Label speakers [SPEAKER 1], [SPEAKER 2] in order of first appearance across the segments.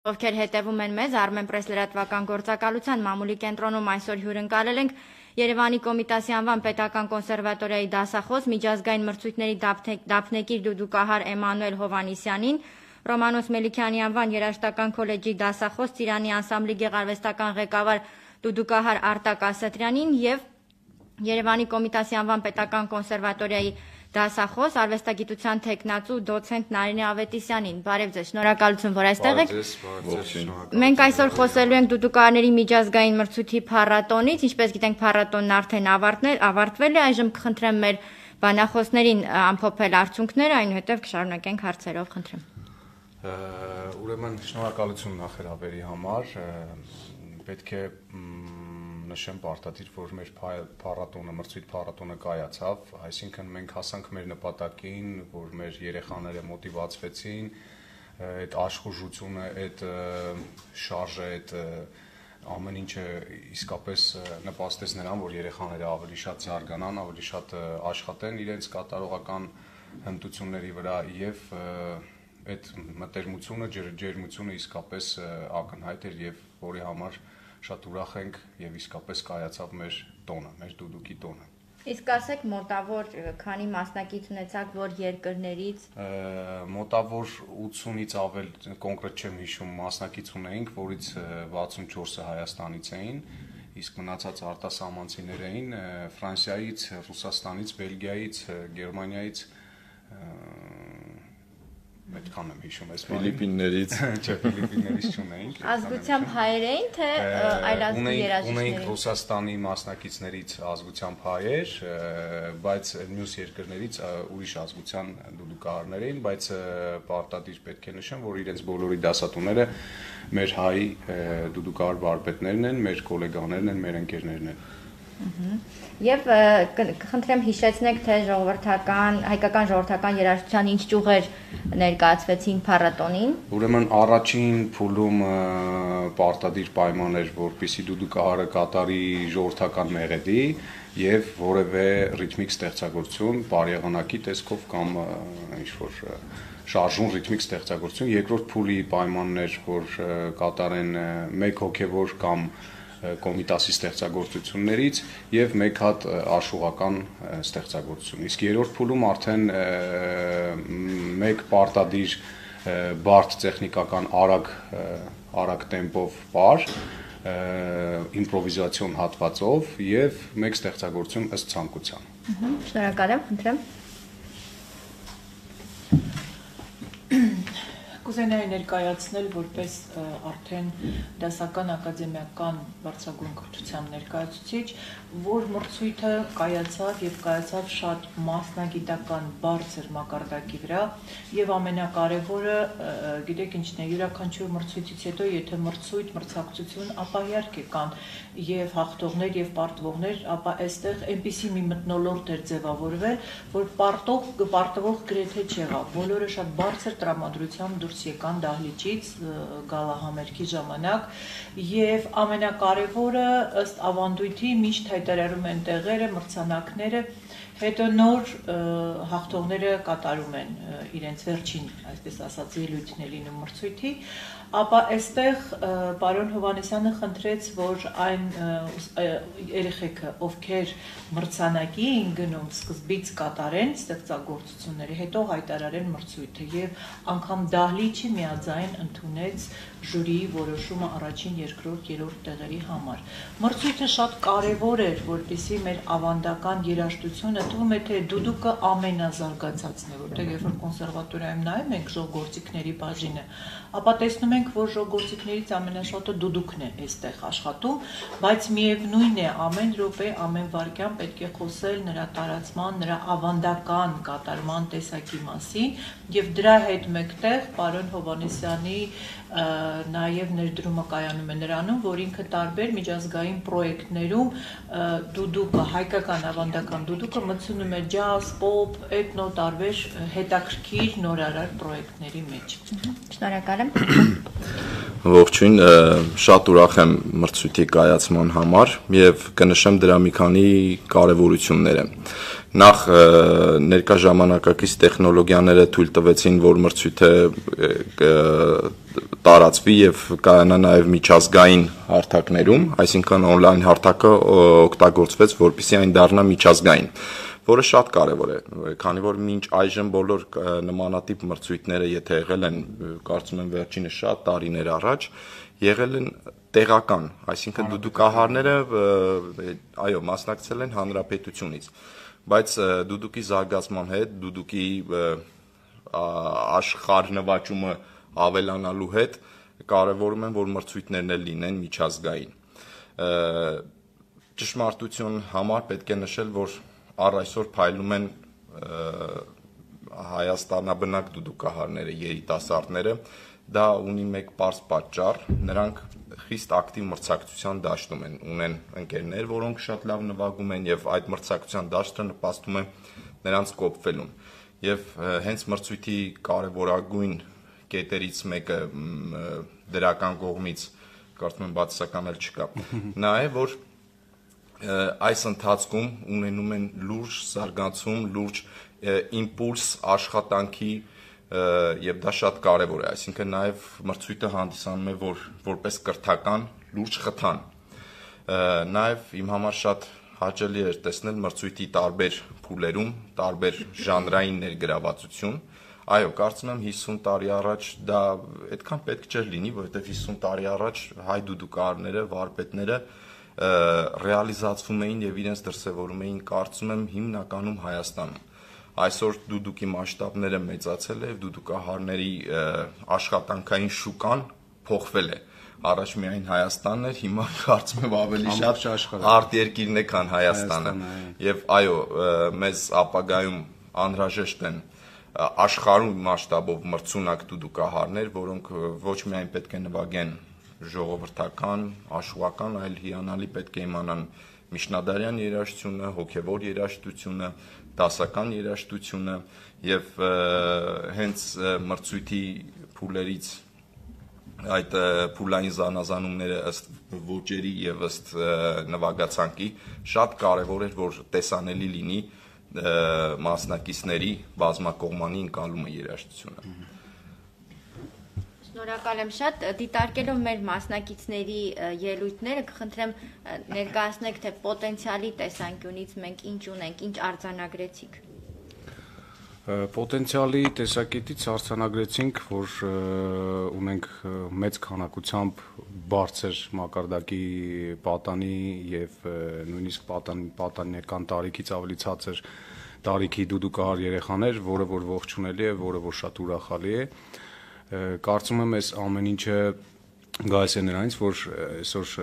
[SPEAKER 1] Ովքեր հետևում են մեզ, Armenpress լրատվական գործակալության մամուլի կենտրոնում այսօր հյուրընկալել ենք Երևանի Կոմիտասի անվան պետական կոնսերվատորիայի դասախոս, միջազգային մրցույթների դափնեկիր դուդուկահար Էմանուել Հովհաննիսյանին, Ռոմանոս Մելիքյանի անվան երաժշտական քոլեջի դասախոս, Ծիրանի անսամբլի գեղարվեստական ղեկավար դուդուկահար Արտակ Ասատրյանին եւ Երևանի Կոմիտասի անվան պետական կոնսերվատորիայի դասախոս, արվեստագիտության թեկնածու դոցենտ Նարինե Ավետիսյանին։ Բարև ձեզ, շնորհակալություն, որ այստեղ եք։ Մենք այսօր խոսելու ենք դուդուկահարների միջազգային մրցույթի փառատոնից, ինչպես գիտենք, փառատոնն արդեն ավարտվել է, այժմ կխնդրեմ մեր բանախոսներին ամփոփել արդյունքները, այնուհետև կշարունակենք հարցերով, խնդրեմ։
[SPEAKER 2] Ուրեմն շնորհակալություն նախերաբերի համար, պետք է նշեմ պարտադիր, որ մեր մրցույթ փառատոնը կայացավ, այսինքն մենք հասանք մեր նպատակին, որ մեր երեխաները մոտիվացվեցին, այդ աշխուժությունը, այդ շարժը, այդ ամեն ինչը իսկապես նպաստեց նրան, որ երեխաները ավելի շատ զարգանան, ավելի շատ աշխատեն իրենց կատարողական հմտությունների վրա եւ այդ մտերմությունը, ջերմությունը իսկապես ակնհայտ էր եւ որի համար շատ ուրախ ենք եւ իսկապես կայացավ մեր տոնը, մեր դուդուկի տոնը։
[SPEAKER 1] Իսկ ասեք մոտավոր քանի մասնակից ունեցաք որ երկրներից։
[SPEAKER 2] Մոտավոր 80-ից ավել կոնկրետ չեմ հիշում մասնակից ունեինք, որից 64-ը Հայաստանից էին, իսկ մնացած արտասահմանցիներ էին Ֆրանսիայից, Ռուսաստանից, Բելգիայից, Գերմանիայից, այդքան եմ հիշում, այս
[SPEAKER 3] Ֆիլիպիններից,
[SPEAKER 2] չէ, Ֆիլիպիններից չունեինք։
[SPEAKER 1] Ազգությամբ հայեր էին, թե այլազգի երաժիշտներ։
[SPEAKER 2] Ունեինք Ռուսաստանի մասնակիցներից ազգությամբ հայեր, բայց մյուս երկրներից ուրիշ ազգության դուդուկահարներ էին, բայց պարտադիր պետք է նշեմ, որ իրենց բոլորի դասատուները մեր հայ դուդուկահար վարպետներն են, մեր գոլեգաներն են, մեր ընկերներն են։
[SPEAKER 1] Եվ կխնդրեմ հիշեցնեք, թե հայկական ժողովրդական երաժշտության ինչ ճյուղեր ներկայացվեցին փառատոնին։
[SPEAKER 2] Ուրեմն առաջին փուլում պարտադիր պայման էր, որպեսզի դուդուկահարը կատարի ժողովրդական մեղեդի եւ որևէ ռիթմիկ ստեղծագործություն, բարեղանակի տեսքով կամ ինչ-որ շարժուն ռիթմիկ ստեղծագործություն։ Երկրորդ փուլի պայմանն էր, որ կատարեն մեկ հոգեվոր կամ Կոմիտասի ստեղծագործություններից եւ մեկ հատ աշխուղական ստեղծագործություն։ Իսկ երրորդ փուլում արդեն մեկ պարտադիր բարդ տեխնիկական արագ տեմպով պար, իմպրովիզացիոն հատվածով եւ մեկ ստեղծագործություն ըստ ցանկության։
[SPEAKER 1] Շնորհակալ եմ, խնդրեմ։
[SPEAKER 4] Կուզենայի ներկայացնել որպես արդեն դասական ակադեմիական բարձրագույն կրթության ներկայացուցիչ, որ մրցույթը կայացավ եւ կայացավ շատ մասնագիտական բարձր մակարդակի վրա եւ ամենակարևորը, գիտեք ինչն է, յուրաքանչյուր մրցույթից հետո եթե մրցակցություն, ապա իհարկե կան եւ հաղթողներ եւ պարտվողներ, ապա այստեղ այնպիսի մի մթնոլորտ էր ձևավորվել, որ պարտվող գրեթե չեղավ, բոլորը շատ բարձր տրամադրությամբ դուրս եկան դահլիճից գալահամերգի ժամանակ եւ ամենակարևորը ըստ ավանդույթի միշտ հայտարարում են տեղերը, մրցանակները, հետո նոր հաղթողները կատարում են իրենց վերջին, այսպես ասած, ելույթն է լինում մրցույթի, ապա այստեղ պարոն Հովհաննիսյանը խնդրեց, որ այն երեխեքը, ովքեր մրցանակի էին գնում, սկզբից կատարեն ստեղծագործությունները, հետո հայտարարեն մրցույթը եւ անգամ դահլիճը միաձայն ընդունեց ժյուրիի որոշումը առաջին, երկրորդ, երրորդ տեղերի համար։ Մրցույթը շատ կարևոր էր, որպեսզի մեր ավանդական երաժշտությունը թվում է թե դուդուկը ամենազարգացածն է, որտեղ երբ որ կոնսերվատորիայում նայում ենք ժողովրդիկների բաժինը, ապա տեսնում ենք, որ ժողովրդիկներից ամենաշատը դուդուկն է այստեղ աշխատում, բայց միևնույն է ամեն րոպե, ամեն վայրկյան պետք է խոսել նրա տարածման, նրա ավանդական կատարման տեսակի մասին եւ դրա հետ մեկտեղ պարոն Հովհաննիսյանի նաև ներդրումը կայանում է նրանում, որ ինքը տարբեր միջազգային պրոյեկտներում դուդուկը, հայկական ավանդական դուդուկը մտցնում է ջազ, պոպ, էթնո տարբեր հետաքրքիր նորարար պրոյեկտների մեջ։
[SPEAKER 1] Շնորհակալ եմ։
[SPEAKER 3] Ողջույն, շատ ուրախ եմ մրցույթի կայացման համար եւ կնշեմ դրա մի քանի կարեւորությունները։ Նախ ներկա ժամանակակից տեխնոլոգիաները թույլ տվեցին, որ մրցույթը տարածվի եւ կայանա նաեւ միջազգային հարթակներում, այսինքն on-line հարթակը օգտագործվեց, որպեսզի այն դառնա միջազգային, որը շատ կարևոր է, քանի որ մինչ այժմ բոլոր նմանատիպ մրցույթները, եթե եղել են, կարծում եմ վերջինս շատ տարիներ առաջ, եղել են տեղական, այսինքն դուդուկահարները այո, մասնակցել են հանրապետությունից, բայց դուդուկի զարգացման հետ, դուդուկի աշխարհնվաճումը ավելանալու հետ կարևորում են, որ մրցույթներն էլ լինեն միջազգային։ Ճշմարտություն համար պետք է նշել, որ առ այսօր փայլում են հայաստանաբնակ դուդուկահարները, երիտասարդները, դա ունի մեկ պարզ պատճառ, նրանք խիստ ակտիվ մրցակցության դաշտում ունեն ընկերներ, որոնք շատ լավ նվագում են եւ այդ մրցակցության դաշտը նպաստում է նրանց կոփվելուն։ Եվ հենց մրցույթի կարևորագույն կետերից մեկը դրական կողմից, կարծում եմ բացասական էլ չկա, նա է, որ այս ընթացքում ունենում են լուրջ զարգացում, լուրջ իմպուլս աշխատանքի եւ դա շատ կարեւոր է, այսինքն նաեւ մրցույթը հանդիսանում է որպես կրթական լուրջ խթան։ Նաեւ իմ համար շատ հաճելի էր տեսնել մրցույթի տարբեր փուլերում, տարբեր ժանրային ներգրավվածություն։ Այո, կարծում եմ 50 տարի առաջ դա այդքան պետք չէր լինի, որովհետեւ 50 տարի առաջ հայ դուդուկահարները, վարպետները ռեալիզացվում էին եւ իրենց դրսեւորում էին, կարծում եմ, հիմնականում Հայաստանում։ Այսօր դուդուկի մասշտաբները մեծացել է եւ դուդուկահարների աշխատանքային շուկան փոխվել է։ Առաջ միայն Հայաստանն էր, հիմա կարծում եմ ավելի շատ արտերկիրն է, քան Հայաստանը։ Եվ այո, մեզ ապագայում անհրաժեշտ են աշխարհում մասշտաբով մրցունակ դուդուկահարներ, որոնք ոչ միայն պետք է նվագեն ժողովրդական, աշխուհական, այլ հիանալի պետք է իմանան միջնադարյան երաժշտությունը, հոգևոր երաժշտությունը, դասական երաժշտությունը եւ հենց մրցույթի փուլերից այդ փուլային զանազանումները ըստ ոճերի եւ ըստ նվագացանկի շատ կարեւոր էր, որ տեսանելի լինի մասնակիցների բազմակողմանի ընկալումը երաժշտությունը։
[SPEAKER 1] Շնորհակալ եմ շատ, դիտարկելով մեր մասնակիցների ելույթները, կխնդրեմ ներկայացնեք, թե պոտենցիալի տեսանկյունից մենք ինչ ունենք, ինչ արձանագրեցիք։
[SPEAKER 2] Պոտենցիալի տեսակետից արձանագրեցինք, որ ունենք մեծ քանակությամբ բարձր մակարդակի պատանի եւ նույնիսկ պատանեկան տարիքից ավելի ցածր տարիքի դուդուկահար երեխաներ, որը որ ողջունելի է, որը որ շատ ուրախալի է։ Կարծում եմ այս ամեն ինչը գայս է նրանից, որ այսօր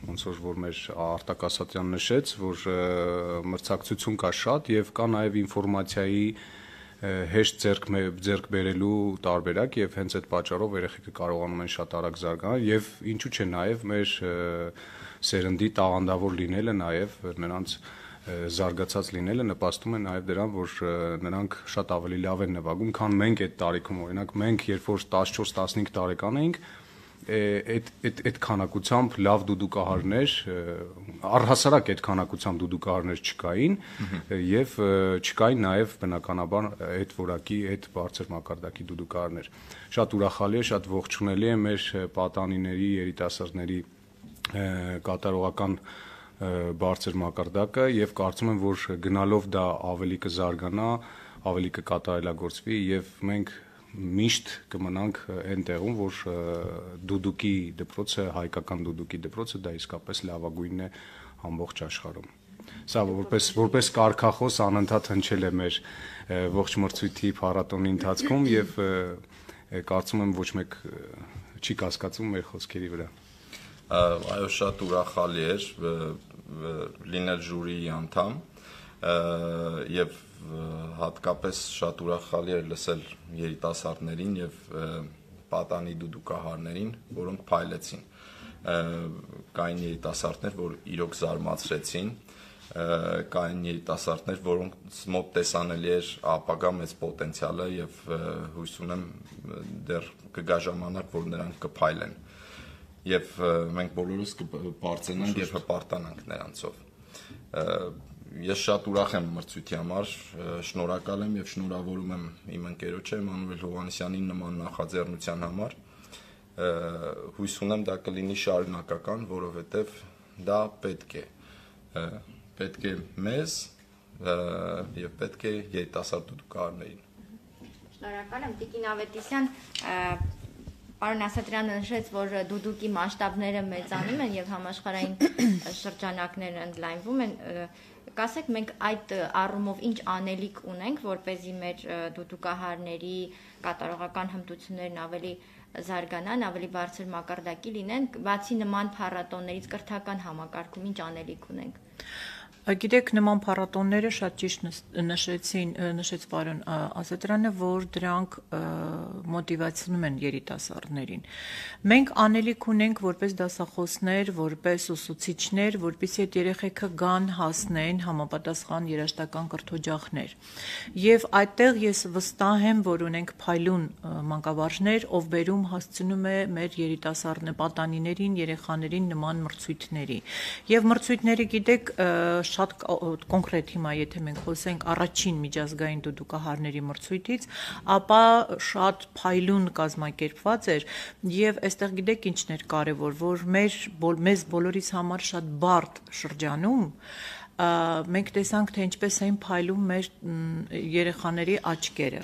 [SPEAKER 2] ոնց որ մեր Արտակ Ասատրյանն նշեց, որ մրցակցություն կա շատ եւ կա նաեւ ինֆորմացիայի հեշտ ձեռք բերելու տարբերակ եւ հենց այդ պատճառով երեխեքը կարողանում են շատ արագ զարգանալ եւ ինչու՞ չէ նաեւ մեր սերնդի տաղանդավոր լինելը նաեւ նրանց զարգացած լինելը նպաստում է նաև դրան, որ նրանք շատ ավելի լավ են նվագում, քան մենք այդ տարիքում, օրինակ մենք երբ որ 14-15 տարեկան էինք, այդ քանակությամբ լավ դուդուկահարներ, առհասարակ այդ քանակությամբ դուդուկահարներ չկային եւ չկային նաև բնականաբար այդ որակի, այդ բարձր մակարդակի դուդուկահարներ։ Շատ ուրախալի է, շատ ողջունելի է մեր պատանիների, երիտասարդների կատարողական բարձր մակարդակը եւ կարծում եմ, որ գնալով դա ավելի կզարգանա, ավելի կկատարելագործվի եւ մենք միշտ կմնանք այն տեղում, որ դուդուկի դպրոցը, հայկական դուդուկի դպրոցը դա իսկապես լավագույնն է ամբողջ աշխարհում։ Սա որպես կարգախոս անընդհատ հնչել է մեր ողջ մրցույթի փառատոնի ընթացքում եւ կարծում եմ ոչ մեկ չի կասկածում մեր խոսքերի վրա։
[SPEAKER 3] Այո, շատ ուրախալի էր լինել ժյուրիի անդամ եւ հատկապես շատ ուրախալի էր լսել երիտասարդներին եւ պատանի դուդուկահարներին, որոնք փայլեցին։ Կային երիտասարդներ, որ իրոք զարմացրեցին, կային երիտասարդներ, որոնց մոտ տեսանելի էր ապագա մեծ պոտենցիալը եւ հույս ունեմ դեռ կգա ժամանակ, որ նրանք կփայլեն եւ մենք բոլորս կբարձրանանք եւ հպարտանանք նրանցով։ Ես շատ ուրախ եմ մրցույթի համար, շնորհակալ եմ եւ շնորհավորում եմ իմ ընկերոջը Մանուել Հովհաննիսյանին նման նախաձեռնության համար։ Հույս ունեմ դա կլինի շարունակական, որովհետեւ դա պետք է մեզ եւ պետք է երիտասարդ դուդուկահարներին։
[SPEAKER 1] Շնորհակալ եմ Տիկին Ավետիսյան, պարոն Ասատրյանը նշեց, որ դուդուկի մասշտաբները մեծանում են եւ համաշխարհային շրջանակները ընդլայնվում են, կասեք մենք այդ առումով ինչ անելիք ունենք, որպեսզի մեր դուդուկահարների կատարողական հմտություններն ավելի զարգանան, ավելի բարձր մակարդակի լինեն, բացի նման փառատոներից կրթական համակարգում ինչ անելիք ունենք։
[SPEAKER 4] Գիտեք, նման փառատոնները շատ ճիշտ նշեց պարոն Ասատրյանը, որ դրանք մոտիվացնում են երիտասարդներին։ Մենք անելիք ունենք որպես դասախոսներ, որպես ուսուցիչներ, որպեսզի այդ երեխեքը գան հասնեն համապատասխան երաժշտական կրթօջախներ։ Եվ այդտեղ ես վստահ եմ, որ ունենք փայլուն մանկավարժներ, ով բերում հասցնում է մեր երիտասարդ պատանիներին, երեխաներին նման մրցույթների։ Եվ մրցույթները, գիտեք, շատ կոնկրետ հիմա եթե մենք խոսենք առաջին միջազգային դուդուկահարների մրցույթից, ապա շատ փայլուն կազմակերպված էր եւ այստեղ գիտեք ինչն էր կարեւոր, որ մեզ բոլորիս համար շատ բարդ շրջանում մենք տեսանք, թե ինչպես էին փայլում մեր երեխաների աչքերը,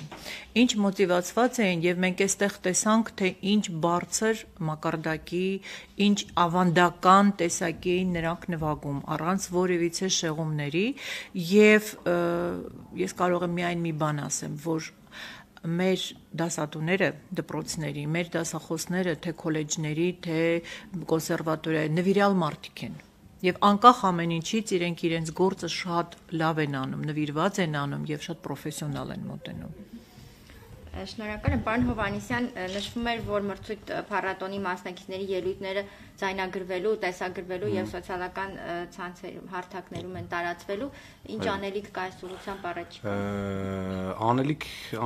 [SPEAKER 4] ինչ մոտիվացված էին եւ մենք այստեղ տեսանք, թե ինչ բարձր մակարդակի, ինչ ավանդական տեսակի էին նրանք նվագում, առանց որևիցե շեղումների եւ ես կարող եմ միայն մի բան ասեմ, որ մեր դասատուները, դպրոցների, մեր դասախոսները, թե քոլեջների, թե կոնսերվատորիայի նվիրյալ մարդիկ են։ Եվ անկախ ամեն ինչից իրենք իրենց գործը շատ լավ են անում, նվիրված են անում եւ շատ պրոֆեսիոնալ են մոտենում։
[SPEAKER 1] Շնորհակալ եմ, պարոն Հովհաննիսյան, նշվում էր, որ մրցույթ փառատոնի մասնակիցների ելույթները ձայնագրվելու, տեսագրվելու եւ սոցիալական ցանցերում, հարթակներում են տարածվելու, ինչ անելիք կա այս ուղղությամբ առաջիկա։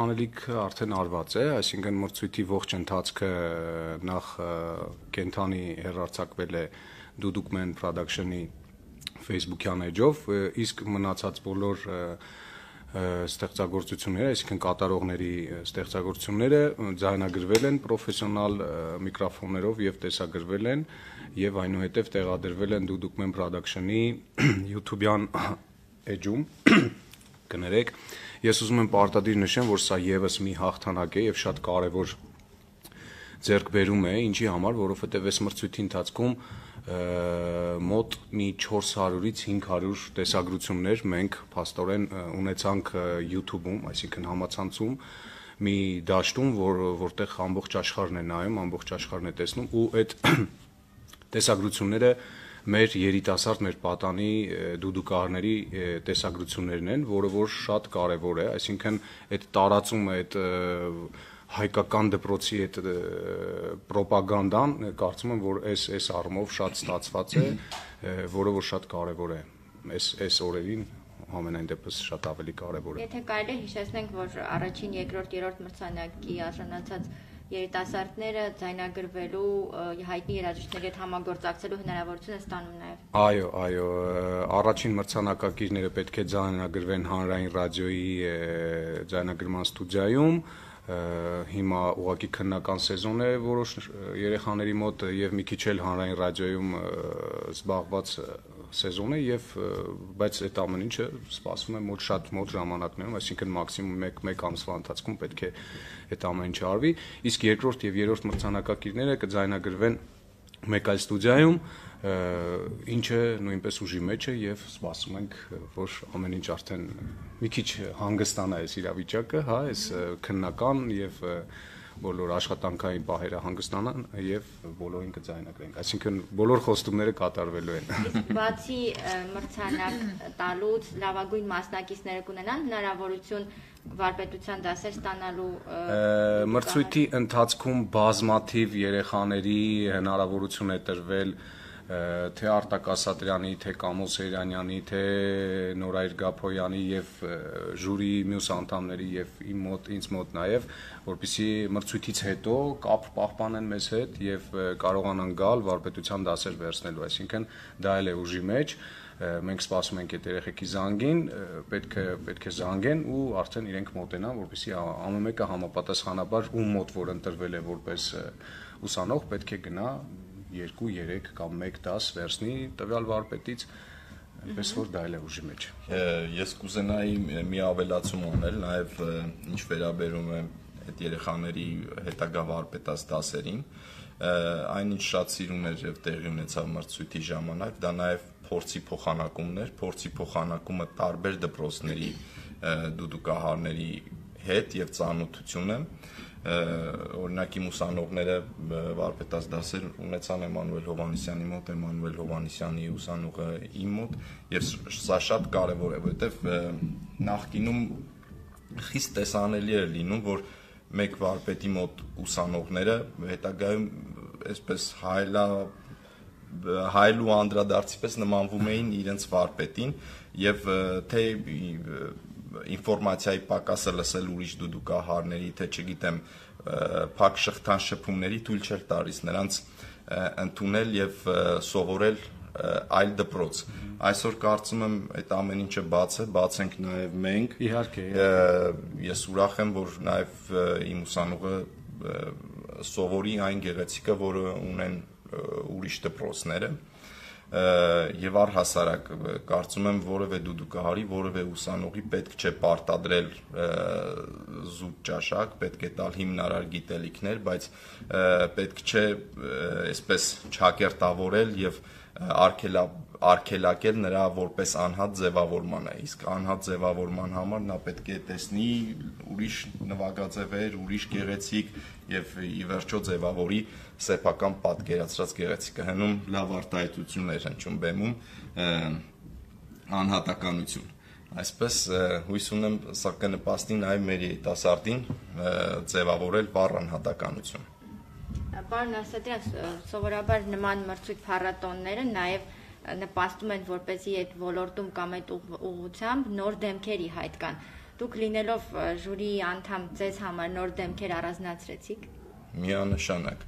[SPEAKER 2] Անելիք արդեն արված է, այսինքն մրցույթի ողջ ընթացքը նախ կենթանի հեռարձակվել է Dudukman Production-ի Facebook-յան էջով, իսկ մնացած բոլոր ստեղծագործությունները, այսինքն կատարողների ստեղծագործությունները ձայնագրվել են պրոֆեսիոնալ միկրոֆոններով եւ տեսագրվել են եւ այնուհետեւ տեղադրվել են Dudukman Production-ի YouTube-յան էջում։ Կներեք, ես ուզում եմ պարտադիր նշեմ, որ սա եւս մի հաղթանակ է եւ շատ կարեւոր ձեռքբերում է, ինչի համար, որովհետեւ այս մրցույթի ընթացքում մոտ մի 400-ից 500 տեսագրություններ մենք փաստորեն ունեցանք YouTube-ում, այսինքն համացանցում մի դաշտում, որտեղ ամբողջ աշխարհն է նայում, ամբողջ աշխարհն է տեսնում ու այդ տեսագրությունները մեր երիտասարդ, մեր պատանի դուդուկահարների տեսագրություններն են, որը որ շատ կարևոր է, այսինքն այդ տարածումը, այդ հայկական դպրոցի այդ պրոպագանդան կարծում եմ, որ այս առումով շատ ստացված է, որը որ շատ կարևոր է այս օրերին ամենայն դեպս շատ ավելի կարևոր է։
[SPEAKER 1] Եթե կարելի է հիշեցնենք, որ առաջին, երկրորդ, երրորդ մրցանակի արժանացած երիտասարդները ձայնագրվելու հայտնի երաժիշտների հետ համագործակցելու հնարավորություն է ստանում նաև։
[SPEAKER 2] Այո, առաջին մրցանակակիրները պետք է ձայնագրվեն Հանրային ռադիոյի ձայնագրման ստուդիայում։ Հիմա ուղղակի քննական սեզոն է որոշ երեխաների մոտ եւ մի քիչ էլ Հանրային ռադիոյում զբաղված սեզոն է եւ բայց այդ ամեն ինչը սպասվում է մոտ ժամանակներում, այսինքն մաքսիմում 1 ամսվա ընթացքում պետք է այդ ամեն ինչը արվի, իսկ երկրորդ եւ երրորդ մրցանակակիրները կձայնագրվեն մեկ այլ ստուդիայում, ինչը նույնպես ուժի մեջ է եւ սպասում ենք, որ ամեն ինչ արդեն մի քիչ հանգստանա այս իրավիճակը, հա, այս քննական եւ բոլոր աշխատանքային պահերը հանգստանան եւ բոլորին կձայնագրենք, այսինքն բոլոր խոստումները կատարվելու են։
[SPEAKER 1] Բացի մրցանակ տալուց լավագույն մասնակիցները կունենան հնարավորություն վարպետության դասեր ստանալու։
[SPEAKER 2] Մրցույթի ընթացքում բազմաթիվ երեխաների հնարավորություն է տրվել թե Արտակ Ասատրյանի, թե Կամո Սեյրանյանի, թե Նորայր Գափոյանի եւ ժյուրի մյուս անդամների եւ ինձ մոտ նաեւ, որպեսզի մրցույթից հետո կապ պահպանեն մեզ հետ եւ կարողանան գալ վարպետության դասեր վերցնելու, այսինքն դա էլ է ուժի մեջ, մենք սպասում ենք այդ երեխեքի զանգին, պետք է զանգեն ու արդեն իրենք մոտենան, որպեսզի ամեն մեկը համապատասխանաբար ում մոտ որ ընտրվել է որպես ուսանող, պետք է գնա 2-3 կամ 1 դաս վերցնի տվյալ վարպետից, այնպես որ դա էլ է ուժի մեջ։
[SPEAKER 3] Ես կուզենայի մի ավելացում անել, նաև ինչ վերաբերում է այդ երեխաների հետագա վարպետաց դասերին, այնինչ շատ սիրուն էր եւ տեղի ունեցավ մրցույթի ժամանակ, դա նաև փորձի փոխանակումն էր, փորձի փոխանակումը տարբեր դպրոցների դուդուկահարների հետ եւ ծանոթությունը, օրինակ իմ ուսանողները վարպետաց դասեր ունեցան Էմանուել Հովհաննիսյանի մոտ, Էմանուել Հովհաննիսյանի ուսանողը իմ մոտ, եւ սա շատ կարեւոր է, որովհետեւ նախկինում խիստ տեսանելի էր լինում, որ մեկ վարպետի մոտ ուսանողները հետագայում այսպես հայելու անդրադարձի պես նմանվում էին իրենց վարպետին եւ թե ինֆորմացիայի պակասը լսել ուրիշ դուդուկահարների, թե չգիտեմ, փակ շղթան շփումների թույլ չէր տալիս նրանց ընդունել եւ սովորել այլ դպրոց։ Այսօր կարծում եմ այդ ամեն ինչը բաց ենք նաեւ մենք։
[SPEAKER 2] Իհարկե։
[SPEAKER 3] Ես ուրախ եմ, որ նաեւ իմ ուսանողը սովորի այն գեղեցիկը, որը ունեն ուրիշ դպրոցները։ Եվ առհասարակ կարծում եմ որևէ դուդուկահարի, որևէ ուսանողի պետք չէ պարտադրել զուտ ճաշակ, պետք է տալ հիմնարար գիտելիքներ, բայց պետք չէ այսպես չակերտավորել եւ արգելակել նրա որպես անհատ ձևավորմանը, իսկ անհատ ձևավորման համար նա պետք է տեսնի ուրիշ նվագաձևեր, ուրիշ գեղեցիկ եւ ի վերջո ձևավորի սեփական պատկերացրած գեղեցիկը, հնում լավ արտահայտություններ հնչում բեմում անհատականություն։ Այսպես հույս ունեմ սա կնպաստի նաեւ մեր երիտասարդին ձևավորել վառ անհատականություն։
[SPEAKER 1] Պարոն Ասատրյան, սովորաբար նման մրցույթ փառատոնները նաեւ նպաստում են, որպեսզի այդ ոլորտում կամ այդ ուղղությամբ նոր դեմքերի հայտ կան։ Դուք լինելով ժյուրիի անդամ, ձեզ համար նոր դեմքեր առանձնացրեցիք։
[SPEAKER 3] Միանշանակ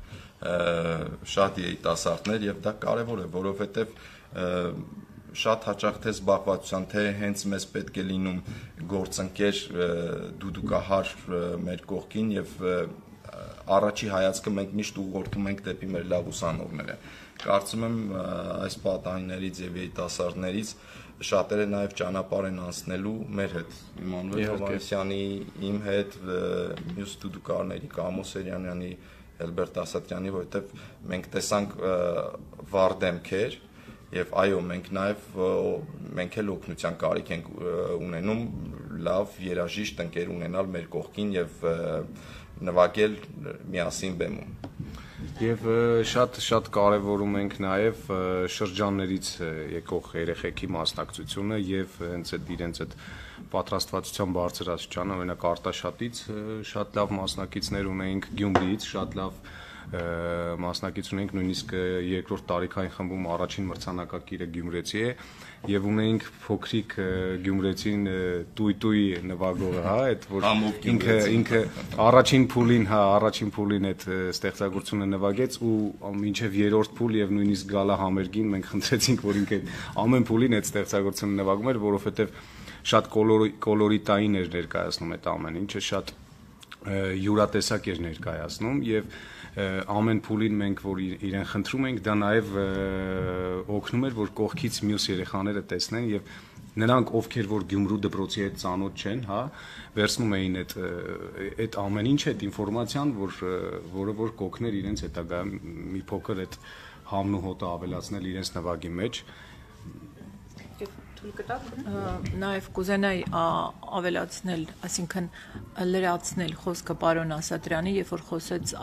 [SPEAKER 3] շատ երիտասարդներ եւ դա կարեւոր է, որովհետեւ շատ հաճախ թե զբաղվածության, թե հենց մեզ պետք է լինում գործընկեր դուդուկահար մեր կողքին եւ առաջի հայացքը մենք միշտ ուղղորդում ենք դեպի մեր լավ ուսանողները։ Կարծում եմ այս պատահիներից եւ երիտասարդներից շատերը նաեւ ճանապարհ են անցնելու մեր հետ, Էմանուել Հովհաննիսյանի, իմ հետ, մյուս դուդուկահարների, Կամո Սեյրանյանի, Էլբերտ Ասատրյանի, որովհետեւ մենք տեսանք վառ դեմքեր եւ այո, մենք էլ օգնության կարիք ենք ունենում լավ երաժիշտ ընկեր ունենալ մեր կողքին եւ նվագել միասին բեմում։
[SPEAKER 2] Եվ շատ կարևորում ենք նաև շրջաններից եկող երեխեքի մասնակցությունը եւ հենց իրենց այդ պատրաստվածության բարձրացումը, օրինակ Արտաշատից շատ լավ մասնակիցներ ունենք, Գյումրիից շատ լավ մասնակից ունենք, նույնիսկ երկրորդ տարիքային խմբում առաջին մրցանակակիրը գյումրեցի է եւ ունենք փոքրիկ գյումրեցին տույ նվագողը, հա, այդ որ ինքը առաջին փուլին այդ ստեղծագործությունը նվագեց ու մինչեւ երրորդ փուլ եւ նույնիսկ գալա համերգին մենք խնդրեցինք, որ ինքը ամեն փուլին այդ ստեղծագործությունը նվագում էր, որովհետեւ շատ կոլորիտային էր ներկայացնում այդ ամեն ինչը, շատ յուրատեսակ էր ներկայացնում եւ ամեն փուլին մենք որ իրեն խնդրում ենք, դա նաև օգնում էր, որ կողքից մյուս երեխաները տեսնեն եւ նրանք, ովքեր որ Գյումրու դպրոցի հետ ծանոթ չեն, հա, վերցնում էին այդ ամեն ինչ, այդ ինֆորմացիան, որը որ կօգներ իրենց հետագա մի փոքր այդ համն ու հոտը ավելացնել իրենց նվագի մեջ։
[SPEAKER 4] Նաև կուզենայի ավելացնել, այսինքն լրացնել խոսքը պարոն Ասատրյանի, երբ որ խոսեց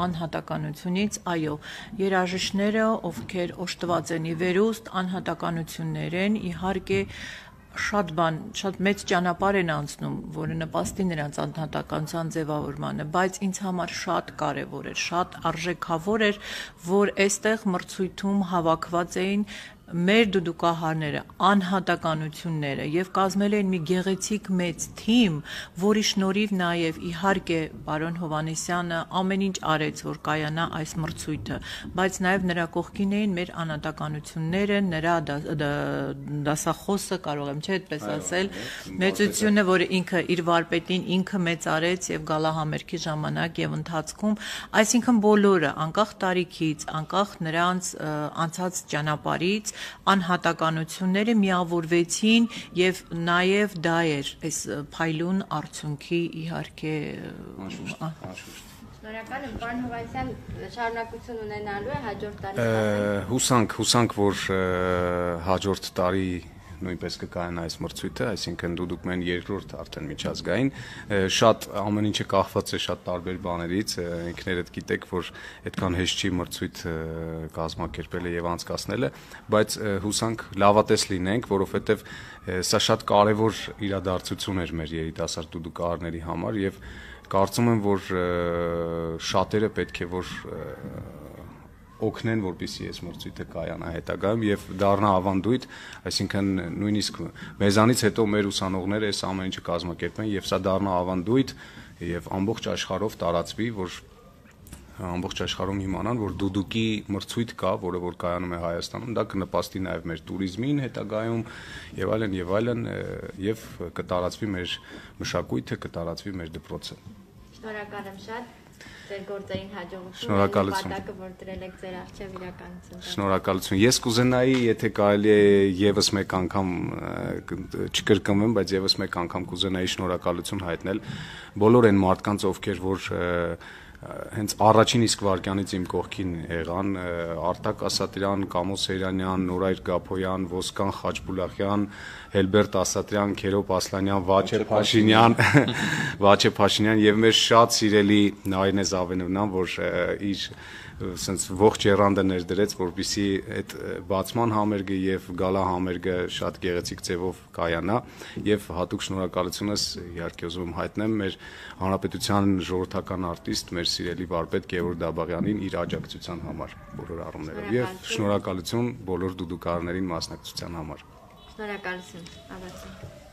[SPEAKER 4] անհատականությունից, այո, երաժիշտները, ովքեր օժտված են ի վերուստ, անհատականություններ են, իհարկե շատ մեծ ճանապարհ են անցնում, որը նպաստի նրանց անհատականության ձևավորմանը, բայց ինձ համար շատ կարևոր էր, շատ արժեքավոր էր, որ այստեղ մրցույթում հավաքված էին մեր դուդուկահարները, անհատականությունները եւ կազմել են մի գեղեցիկ մեծ թիմ, որի շնորհիվ նաեւ իհարկե պարոն Հովհաննիսյանը ամեն ինչ արեց, որ կայանա այս մրցույթը, բայց նաեւ նրա կողքին էին մեր անհատականությունները, նրա դասախոսը, կարող եմ չէ այդպես ասել, մեծությունը, որը ինքը իր վարպետին ինքը մեծ արեց եւ գալահամերգի ժամանակ եւ ընթացքում, այսինքն բոլորը, անկախ տարիքից, անկախ նրանց անցած ճանապարհից, անհատականությունները միավորվեցին եւ նաեւ դա էր այս փայլուն արդյունքի իհարկե
[SPEAKER 1] Շնորհակալ եմ, պարոն Հովհաննիսյան, շարունակություն ունենալու է հաջորդ տարի։
[SPEAKER 2] Հուսանք, որ հաջորդ տարի նույնպես կկայանա այս մրցույթը, այսինքն դուք մեն երկրորդ արդեն միջազգային, շատ ամեն ինչը կախված է շատ տարբեր բաներից, ինքներդ գիտեք, որ այդքան հեշտ չի մրցույթ կազմակերպելը եւ անցկացնելը, բայց հուսանք լավատես լինենք, որովհետեւ սա շատ կարեւոր իրադարձություն էր մեր երիտասարդ դուդուկահարների համար եւ կարծում եմ, որ շատերը պետք է որ օգնեն, որպեսզի այս մրցույթը կայանա հետագայում եւ դառնա ավանդույթ, այսինքն նույնիսկ մեզանից հետո մեր ուսանողները այս ամեն ինչը կազմակերպեն եւ սա դառնա ավանդույթ եւ ամբողջ աշխարհով տարածվի, որ ամբողջ աշխարհում իմանան, որ դուդուկի մրցույթ կա, որը որ կայանում է Հայաստանում, դա կնպաստի նաեւ մեր туриզմին հետագայում եւ այլն եւ կտարածվի մեր մշակույթը, կտարածվի մեր դպրոցը։
[SPEAKER 1] Շնորհակալ եմ շատ։ Ձեր գործերին հաջողություն։
[SPEAKER 2] Շնորհակալություն։
[SPEAKER 1] Նպատակը, որ դրել եք ձեր առջև իրականություն։
[SPEAKER 2] Շնորհակալություն։ Ես կուզենայի, եթե կարելի է եւս մեկ անգամ չկրկնվեմ, բայց եւս մեկ անգամ կուզենայի շնորհակալություն հայտնել բոլոր այն մարդկանց, ովքեր որ հենց առաջին իսկ վարքյանից իմ կողքին եղան, Արտակ Ասատրյան, Կամո Սեյրանյան, Նորայր Գափոյան, Ոսկան Խաչբուլախյան, Հելբերտ Ասատրյան, Քերոբ Ասլանյան, Վաչե Փաշինյան եւ մեր շատ սիրելի Նարինե Զավենովնան, որ իր sense ողջ երանդը ներդրեց, որպեսզի այդ բացման համերգը եւ գալա համերգը շատ գեղեցիկ ձևով կայանա եւ հատուկ շնորհակալությունս իհարկե ուզում եմ հայտնեմ մեր հանրապետության ժողովրդական արտիստ, մեր սիրելի վարպետ Գևորգ Դաբաղյանին իր աջակցության համար բոլոր առումներով եւ շնորհակալություն բոլոր դուդուկահարներին մասնակցության համար։
[SPEAKER 1] Շնորհակալություն, ավարտենք։